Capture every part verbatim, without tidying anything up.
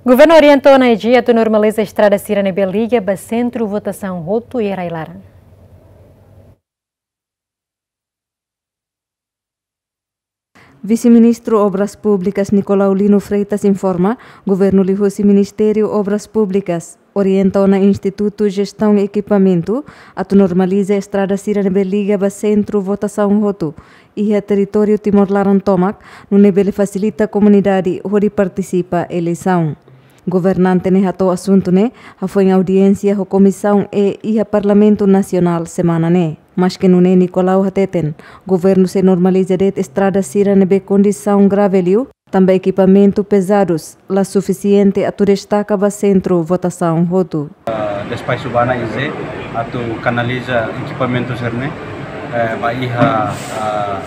Governu orienta ONA-IG atu normaliza estrada sira ne'ebé liga ba sentru votasaun hotu iha rai-laran. Vise-Ministru Obras Públikas Nicolau Lino Freitas informa, governu liuhusi Ministériu Obras Públikas orienta ona Institutu Jestaun Ekipamentu atu normaliza estrada sira ne'ebé liga ba sentru votasaun hotu iha territóriu Timor-Leste tomak, nune'e bele fasilita komunidade hodi partisipa eleisaun. Governante ne'e hato'o asuntu ne'e hafoin audiénsia ho Komisaun E iha Parlamentu Nasionál semana ne'e. Maske nune'e Nicolau hateten, governu sei normaliza de'it estrada sira ne'ebé kondisaun grave liu, tanba ekipamentu pezadus la sufisiente atu destaka ba sentru votasaun hotu. Ah, despaxu ba ONA-IG atu kanaliza ekipamentu sira-ne'e, eh, ba iha, ah,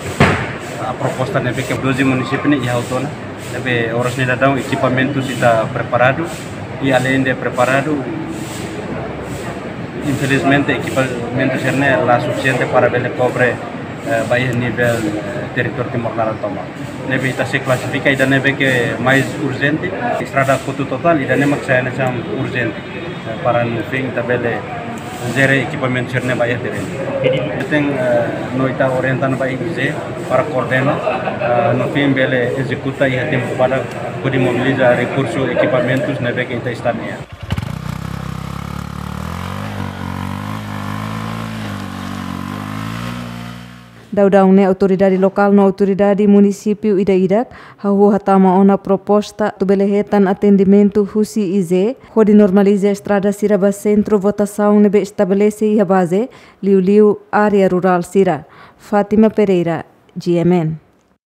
ah, proposta ne'ebé ke doze munisípiu ne'e iha hotu ona. Ne'ebé oras ne'e daudaun ekipamentu sira preparadu, i além de preparadu, infelizmente ekipamentu sira-ne'e la sufisiente para bele kobre, eh, ba iha nivel, eh, territóriu Timor-Leste tomak. Ne'ebé ita sei klasifika ida ne'ebé ke mais urjente, estrada kotu totál, ida-ne'e mak sai hanesan urjente, eh, para no fim ita bele jere ekipamentu sira-ne'e ba iha terrenu. Ita, eh, no ita orienta ba ONA-IG para koordena, eh, no fim bele ezekuta iha tempu badak hodi mobiliza rekursu ekipamentus ne'ebé ke ita está nian. Daudaun ne'e autoridade lokál no autoridade munisípiu ida-idak hahú hatama ona proposta atu bele hetan atendimentu husi IG hodi normaliza estrada sira ba sentru votasaun ne'ebé estabelese iha baze, liuliu área rurál sira. Fátima Pereira, G M N.